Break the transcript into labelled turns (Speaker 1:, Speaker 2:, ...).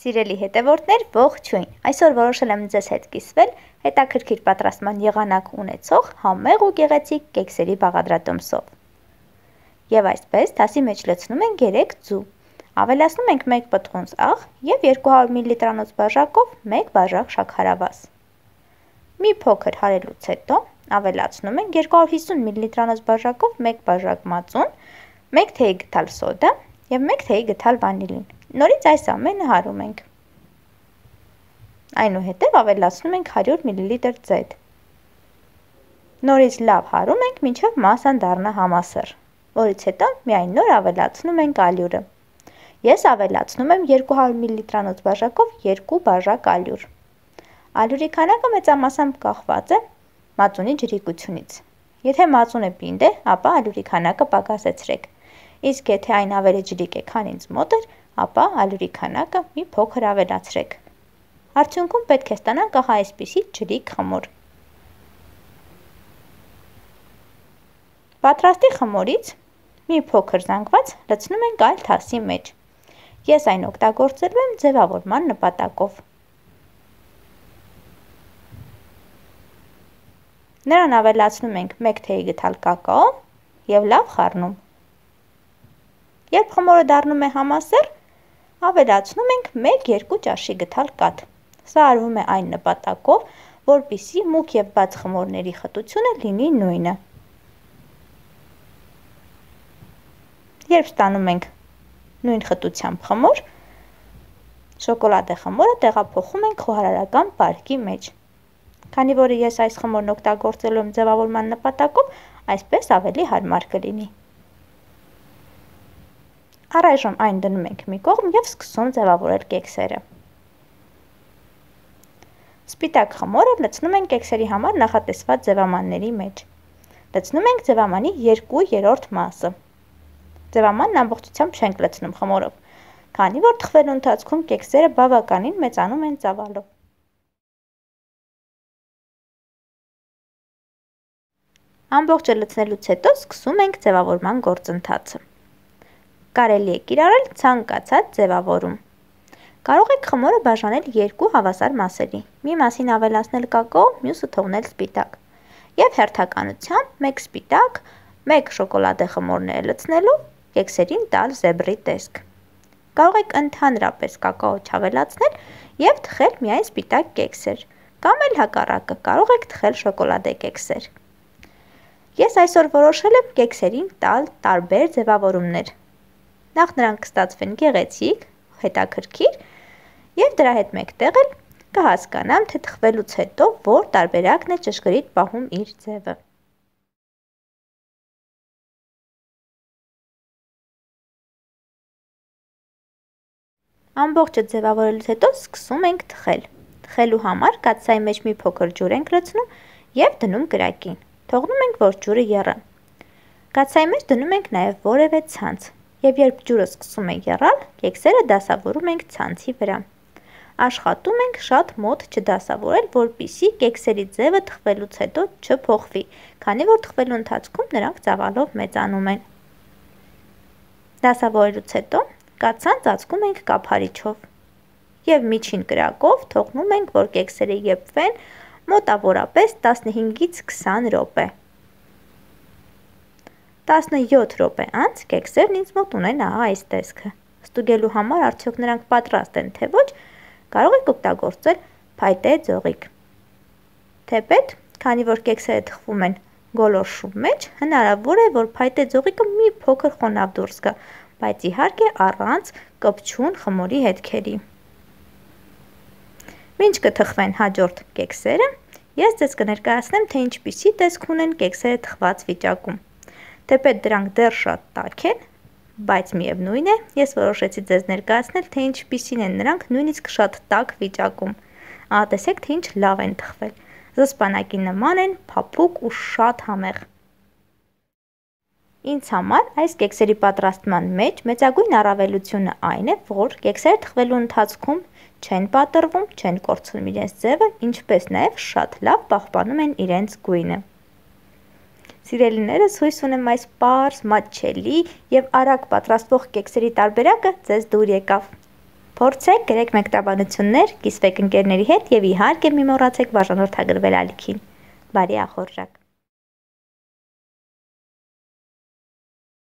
Speaker 1: Սիրելի հետևորդներ, ողջույն։ Այսօր որոշել եմ ձեզ հետ կիսվել հետաքրքիր պատրաստման եղանակ ունեցող համեղ ու գեղեցիկ կեքսերի բաղադրատոմսով։ Եվ այսպես թասի մեջ լցնում ենք 3 ձու։ Ավելացնում ենք 1 պտղունց աղ եւ 200 մլ բաժակով 1 բաժակ շաքարավազ։ Մի փոքր հարելուց հետո ավելացնում ենք 250 մլ բաժակով 1 բաժակ մածուն, 1 թեյ գթալ սոդա եւ 1 թեյ գթալ վանիլին։ Նորից այս ամենը հարում ենք։ Այնուհետև ավելացնում ենք 100 մլ ձեթ։ Նորից լավ հարում ենք, մինչև մասան դառնա համասեռ, որից հետո միայն նոր ավելացնում ենք ալյուրը։ Ես ավելացնում եմ 200 մլ բաժակով 2 բաժակ ալյուր։ Ալյուրի քանակը մեծամասամբ կախված է մածունի ջրիկությունից։ Եթե մածունը պինդ է, ապա ալյուրի քանակը պակասեցրեք։ Իսկ եթե այն ավելի ջրիկ է, քան ինձ մոտ էր, ապա ալյուրի քանակը մի փոքր ավելացրեք։ Արդյունքում պետք է ստանանք ահա այսպիսի ջրիկ խմոր։ Պատրաստի խմորից մի փոքր զանգված լցնում ենք այլ թասի մեջ։ Ես այն օգտագործելու եմ ձևավորման նպատակով։ Նրան ավելացնում ենք 1 թեյ գթալ կակաո եւ լավ խառնում։ Երբ խմորը դառնում է համասեռ, ավելացնում ենք 1-2 ճաշի գթալ կաթ։ Սա արվում է այն նպատակով, որպեսզի մուգ եւ բաց խմորների խտությունը լինի նույնը։ Երբ ստանում ենք նույն խտությամբ խմոր, շոկոլադե խմորը տեղափոխում ենք խոհարարական պարկի մեջ։ Քանի որ ես այս խմորն օգտագործելու եմ ձևավորման նպատակով, այսպես ավելի հարմար կլինի։ Առայժմ այն դնում ենք մի կողմ եւ սկսում ձևավորել կեքսերը։ Սպիտակ խմորը լցնում ենք կեքսերի համար նախատեսված ձևամանների մեջ։ Լցնում ենք ձևամանի 2/3 մասը։ Ձևամանն ամբողջությամբ չենք լցնում խմորով, քանի որ թխվելու ընթացքում կեքսերը բավականին մեծանում են ծավալով։ Ամբողջը լցնելուց հետո սկսում ենք ձևավորման գործընթացը։ Կարելի է կիրառել ցանկացած ձևավորում։ Կարող եք խմորը բաժանել 2 հավասար մասերի, մի մասին ավելացնել կակաո, մյուսը թողնել սպիտակ, եւ հերթականությամբ 1 սպիտակ, 1 շոկոլադե խմորները լցնելու կեքսերին տալ զեբրի տեսք։ Կարող եք ընդհանրապես կակաո չավելացնել եւ թխել միայն սպիտակ կեքսեր, կամ էլ հակառակը, կարող եք թխել շոկոլադե կեքսեր։ Ես այսօր որոշել եմ կեքսերին տալ տարբեր ձևավորումներ։ Նախ նրանք կստացվեն գեղեցիկ, հետաքրքիր եւ դրա հետ մեկտեղ էլ կհասկանամ, թե թխվելուց հետո որ տարբերակն է ճշգրիտ պահում իր ձևը։ Ամբողջը ձևավորելուց հետո սկսում ենք թխել։ Թխելու համար կաթսայի մեջ մի փոքր ջուր ենք լցնում եւ դնում կրակին։ Թողնում ենք, որ ջուրը եռա։ Կաթսայի մեջ դնում ենք նաև որևէ ցանց, եւ երբ ջուրը սկսում է եռալ, կեքսերը դասավորում ենք ցանցի վրա։ Աշխատում ենք շատ մոտ չդասավորել, որպեսզի կեքսերի ձևը թխվելուց հետո չփոխվի, քանի որ թխվելու ընթացքում նրանք ծավալով մեծանում են։ Դասավորելուց հետո կաթսան ծածկում ենք կափարիչով եւ միջին կրակով թողնում ենք, որ կեքսերը եփվեն մոտավորապես 15-ից 20 րոպե։ 17 րոպե անց կեքսերն ինձ մոտ ունեն ահա այս տեսքը։ Ստուգելու համար արդյոք նրանք պատրաստ են թե ոչ, կարող եք օգտագործել փայտե ձողիկ։ Թեպետ, քանի որ կեքսերը թխվում են գոլորշու մեջ, հնարավոր է, որ փայտե ձողիկը մի փոքր խոնավ դուրս գա, բայց իհարկե առանց կպչուն խմորի հետքերի։ Մինչ կթխվեն հաջորդ կեքսերը, ես ձեզ կներկայացնեմ, թե ինչպիսի տեսք ունեն կեքսերը թխված վիճակում։ Թեպետ դրանք դեռ շատ տաք են, բայց միևնույն է, ես որոշեցի ձեզ ներկայացնել, թե ինչպիսին են նրանք նույնիսկ շատ տաք վիճակում։ Ահա տեսեք, թե ինչ լավ են թխվել։ Զսպանակի նման են, փափուկ ու շատ համեղ։ Ինձ համար այս կեքսերի պատրաստման մեջ մեծագույն առավելությունը այն է, որ կեքսերը թխվելու ընթացքում չեն պատռվում, չեն կորցնում իրենց ձևը, ինչպես նաև շատ լավ պահպանում են իրենց գույնը։ Սիրելիներս, հույս ունեմ այս պարզ, մատչելի եւ արագ պատրաստվող կեքսերի տարբերակը ձեզ դուր եկավ։ Փորձեք, գրեք մեկնաբանություններ, կիսվեք ընկերների հետ և իհարկե մի մոռացեք բաժանորդագրվել ալիքին։ Բարի ախորժակ։